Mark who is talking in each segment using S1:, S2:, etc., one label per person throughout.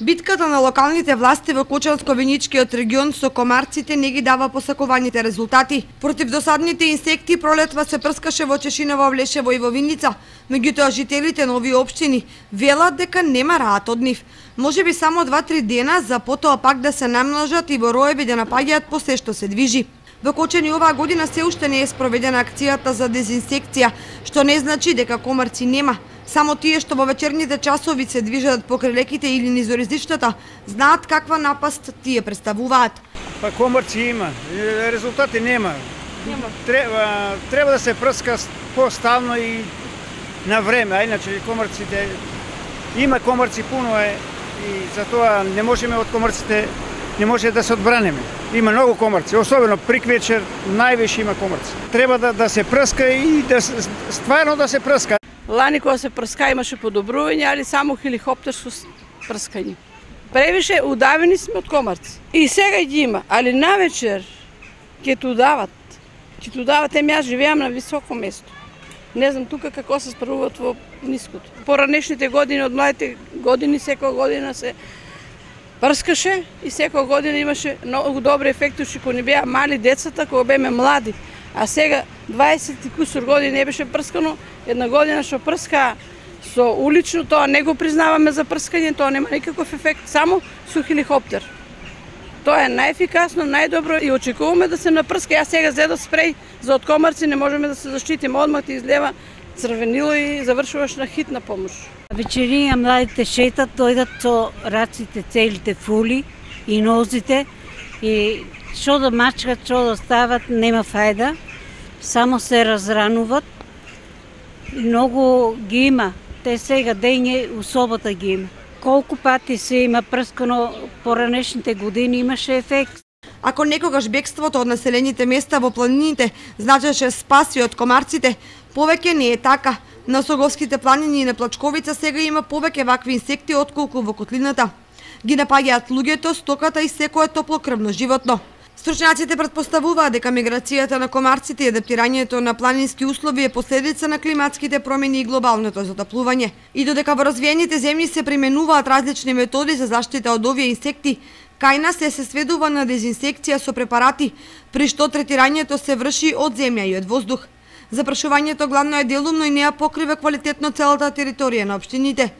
S1: Битката на локалните власти во Кочанско-Виничкиот регион со комарците не ги дава посакуваните резултати. Против досадните инсекти пролетва се прскаше во Чешиново, Влешево и во Винница, меѓутоа жителите на овие општини велат дека нема раат од нив. Можеби само 2-3 дена, за потоа пак да се намножат и во роеви да напаѓаат по се што се движи. Во Кочани оваа година се уште не е спроведена акцијата за дезинсекција, што не значи дека комарци нема. Само тие што во вечерните часови се движат покрај леките или низ оризиштата, знаат каква напаст тие представуваат.
S2: Па комарци има, резултати нема. Треба да се прска постално и на време, а иначе комарците има комарци пуно е и затоа не можеме од комарците не може да се одбранеме. Има многу комарци, особено приквечер највише има комарци. Треба да се прска и стварно да се прска.
S3: Лани кога се прска имаше подобрување, али само хеликоптерско прскање. Превише удавени сме од комарци. И сега ги има, али навечер ќе ту дават. Ќе ту дават, јас живеам на високо место. Не знам тука како се справуваат во ниското. Поранешните години, од младите години, секоја година се прскаше и секоја година имаше многу добри ефекти, кога не беа мали децата, кога беме млади. А сега 20 и кусур години не беше прскано, една година што прска со улично, тоа не го признаваме за прскање, тоа нема никаков ефект, само со хеликоптер. Тоа е најефикасно, најдобро и очекуваме да се напрска. Јас сега зедов спреј за од комарци, не можеме да се заштитиме, одмах ти излева црвенило и завршуваш на хитна помош.
S4: Вечерија младите шетат, дојдат со раците целите фули и нозите и што да мачкат, што да стават, нема фајда, само се разрануват. Многу ги има, те сега дење у собота ги има. Колку пати се има прскано поранешните години, имаше ефект.
S1: Ако некогаш бегството од населените места во планините значеше спаси од комарците, повеќе не е така. На Соговските планини и на Плачковица сега има повеќе вакви инсекти отколку во котлината. Ги напаѓаат луѓето, стоката и секое топлокрвно животно. Стручњаците претпоставуваат дека миграцијата на комарците и адаптирањето на планински услови е последица на климатските промени и глобалното затоплување. И додека во развиените земји се применуваат различни методи за заштита од овие инсекти, кај нас се сведува на дезинсекција со препарати, при што третирањето се врши од земја и од воздух. Запрашувањето главно е делумно и не ја покрива квалитетно целата територија на општините.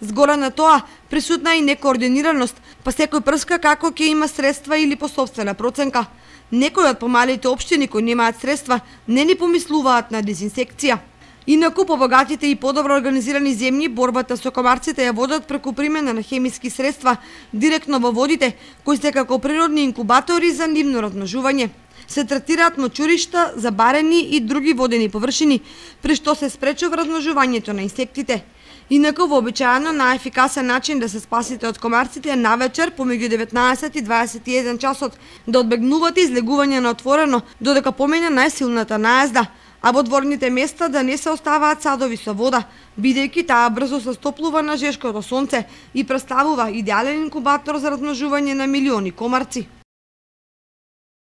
S1: Згора на тоа, присутна и некоординираност, па секој прска како ќе има средства или по сопствена проценка. Некои од помалите општини кои немаат средства не ни помислуваат на дезинсекција. Инаку по богатите и подобро организирани земји борбата со комарците ја водат преку примена на хемиски средства директно во водите, кои се како природни инкубатори за нивно размножување. Се третираат мочуришта, забарени и други водени површини, при што се спречува размножувањето на инсектите. Инаку вообичаено најефикасен начин да се спасите од комарците е навечер помеѓу 19 и 21 часот, да одбегнувате излегување на отворено додека помине најсилната наезда, а во дворните места да не се оставаат садови со вода, бидејќи таа брзо се стоплува на жешкото сонце и представува идеален инкубатор за размножување на милиони комарци.